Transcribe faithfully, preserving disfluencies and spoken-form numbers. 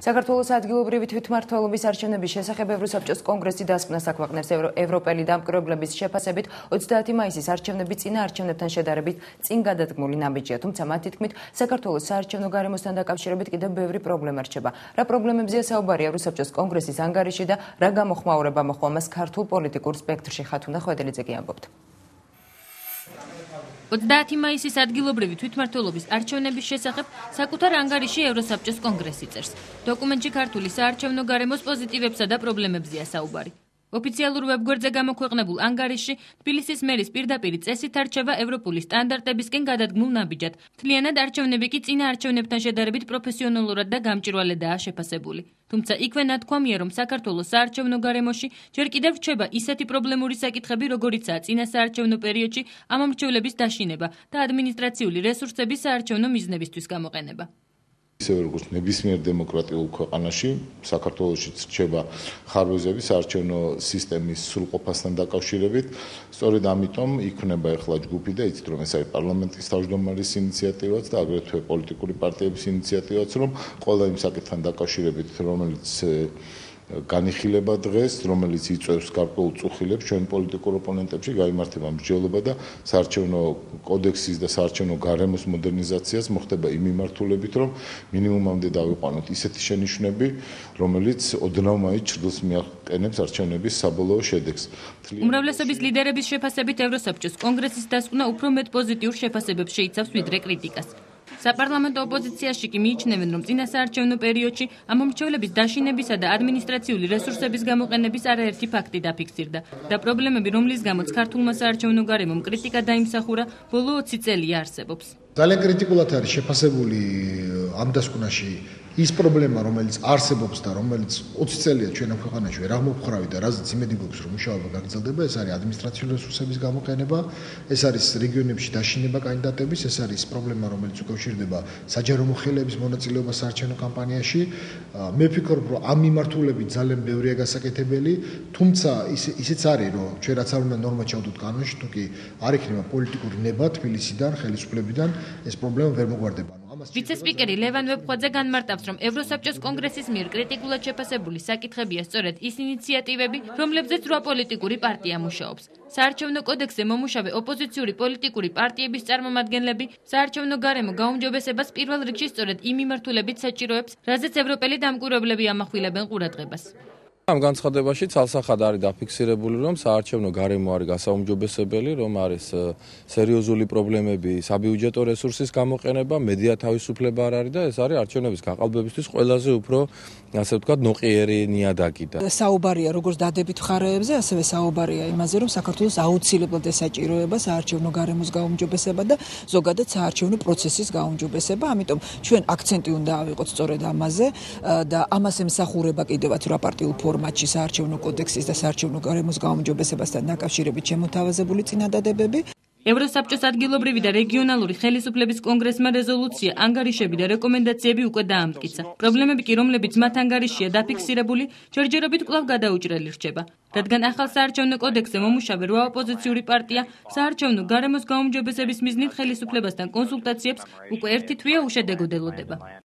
საქართველოს ადგილობრივი თვითმმართველობის არჩევნების შესახებ ევროსაბჭოს კონგრესი დასკვნას აქვეყნებს ევროპელი დამკვირვებლების შეფასებით ოცდაათი მაისის არჩევნები წინა არჩევნებთან შედარებით წინ გადადგმული ნაბიჯია, თუმცა მათი თქმით საქართველოს საარჩევნო გარემოსთან დაკავშირებით კიდევ ბევრი პრობლემა რჩება. რა პრობლემებზეა საუბარი ევროსაბჭოს კონგრესის ანგარიში და რა გამოხმაურება მოჰყვა მას ქართულ პოლიტიკურ სპექტრში? ხათუნა ხვედელიძე ამბობთ. ოცდაათი მაისის ადგილობრივი თვითმმართველობის არჩევნების შესახებ საკუთარ ანგარიში ევროსაბჭოს კონგრესი წერს. დოკუმენტში ქართული საარჩევნო გარემოს პოზიტივებსა და პრობლემებზეა საუბარი. ოფიციალურ ვებგვერდზე გამოქვეყნებულ ანგარიშში თბილისის მერის პირდაპირი წესით არჩევა ევროპული სტანდარტებისკენ გადადგმულ ნაბიჯად. მთლიანად არჩევნები კი წინა არჩევნებთან შედარებით პროფესიონალურად და გამჭვირვალედაა შეფასებული. თუმცა იქვე ნათქვამია, რომ საქართველოს საარჩევნო გარემოში ჯერ კიდევ რჩება ისეთი პრობლემური საკითხები, როგორიცაა წინა საარჩევნო პერიოდში ამ მრჩევლების დაშინება და ადმინისტრაციული რესურსების საარჩევნო მიზნებისთვის გამოყენება. ისევე როგორც ნებისმიერ დემოკრატიულ ქვეყანაში, საქართველოშიც რჩება ხარვეზები საარჩევნო სისტემის სრულყოფასთან დაკავშირებით. სწორედ ამიტომ იქმნება ახლა ჯგუფი და იცით, რომ ეს არის პარლამენტის თავმჯდომარის ინიციატივაც და აგრეთვე პოლიტიკური პარტიების ინიციატივაც, რომ ყველა იმ საკითხთან დაკავშირებით, რომელიც განიხილება დღეს, რომელიც იწვევს გარკვეულ წუხილებს ჩვენ პოლიტიკურ ოპონენტებში, გაიმართება მსჯელობა და საარჩევნო კოდექსის და საარჩევნო გარემოს მოდერნიზაციას მოხდება იმ მიმართულებით, რომ მინიმუმამდე დავიყვანოთ ისეთი შენიშვნები, რომელიც ოდნავ მაინც ჭრილს მიაყენებს არჩევნების საბოლოო შედეგს. უმრავლესობის ლიდერების შეფასებით ევროსაბჭოს კონგრესის დასკვნა უფრო მეტ პოზიტიურ შეფასებებს შეიცავს ვიდრე კრიტიკას. საპარლამენტო ოპოზიციაში კი მიიჩნევენ, რომ წინა საარჩევნო პერიოდში ამ მრჩევლების დაშინებისა და ადმინისტრაციული რესურსების გამოყენების არაერთი ფაქტი დაფიქსირდა და პრობლემები, რომლის გამოც ქართულმა საარჩევნო გარემომ კრიტიკა დაიმსახურა, ბოლო ოცი წელია არსებობს. ძალიან კრიტიკულად არის შეფასებული ამ დასკვნაში ის პრობლემა, რომელიც არსებობს და რომელიც ოცი წელია ჩვენ ამ ქვეყანაში ვერ აღმოფხრავი და რაზეც იმედი გვაქვს, რომ მუშაობა გაგრძელდება, ეს არის ადმინისტრაციული რესურსების გამოყენება, ეს არის რეგიონებში დაშინება კანდიდატების, ეს არის პრობლემა, რომელიც უკავშირდება საჯარო მოხელეების მონაწილეობას საარჩევნო კამპანიაში. მე ვფიქრობ, რომ ამ მიმართულებით ძალიან ბევრია გასაკეთებელი, თუმცა ისიც არის, რომ ჩვენ რაც არ უნდა ნორმა ჩავდოთ კანონში, თუ კი არ იქნება პოლიტიკური ნება თბილისიდან, ხელისუფლებიდან, ეს პრობლემა ვერ მოგვარდება. ვიცე-სპიკერი ლევან ვებხვაძე განმარტავს, რომ ევროსაბჭოს კონგრესის მიერ კრიტიკულად შეფასებული საკითხებია სწორედ ის ინიციატივები, რომლებზეც რვა პოლიტიკური პარტია მუშაობს. საარჩევნო კოდექსზე მომუშავე ოპოზიციური პოლიტიკური პარტიების წარმომადგენლები საარჩევნო გარემო გაუმჯობესებას პირველ რიგში სწორედ იმ მიმართულებით საჭიროებს, რაზეც ევროპელი დამკვირვებლები ამახვილებენ ყურადღებას. ამ განცხადებაში ცალსახად არის დაფიქსირებული, რომ საარჩევნო გარემო არის გასაუმჯობესებელი, რომ არის სერიოზული პრობლემები საბიუჯეტო რესურსის გამოყენება, მედია თავისუფლება არ არის და ეს არის არჩევნების გაყალბებისთვის ყველაზე უფრო, ასე ვთქვათ, ნოყიერი ნიადაგი. საუბარია როგორც დადებით მხარეებზე, ასევე საუბარია იმაზე, რომ საქართველოს აუცილებლად ესაჭიროება საარჩევნო გარემოს გაუმჯობესება და ზოგადად საარჩევნო პროცესის გაუმჯობესება, ამიტომ ჩვენ აქცენტი უნდა ავიღოთ სწორედ ამაზე და ამას ემსახურება კიდევაც რვა პარტიულ ფორმატში საარჩევნო კოდექსის და საარჩევნო გარემოს გაუმჯობესებასთან დაკავშირებით შემოთავაზებული წინადადებები. ევროსაბჭოს ადგილობრივი და რეგიონალური ხელისუფლების კონგრესმა რეზოლუცია, ანგარიშები და რეკომენდაციები უკვე დაამტკიცა. პრობლემები კი, რომლებიც მათ ანგარიშია დაფიქსირებული, ჯერჯერობით კვლავ გადაუჭრელი რჩება. რადგან ახალ საარჩევნო კოდექსზე მომუშავე რვა ოპოზიციური პარტია საარჩევნო გარემოს გაუმჯობესების მიზნით ხელისუფლებასთან კონსულტაციებს უკვე ერთი თვეა უშედეგოდ ელოდება.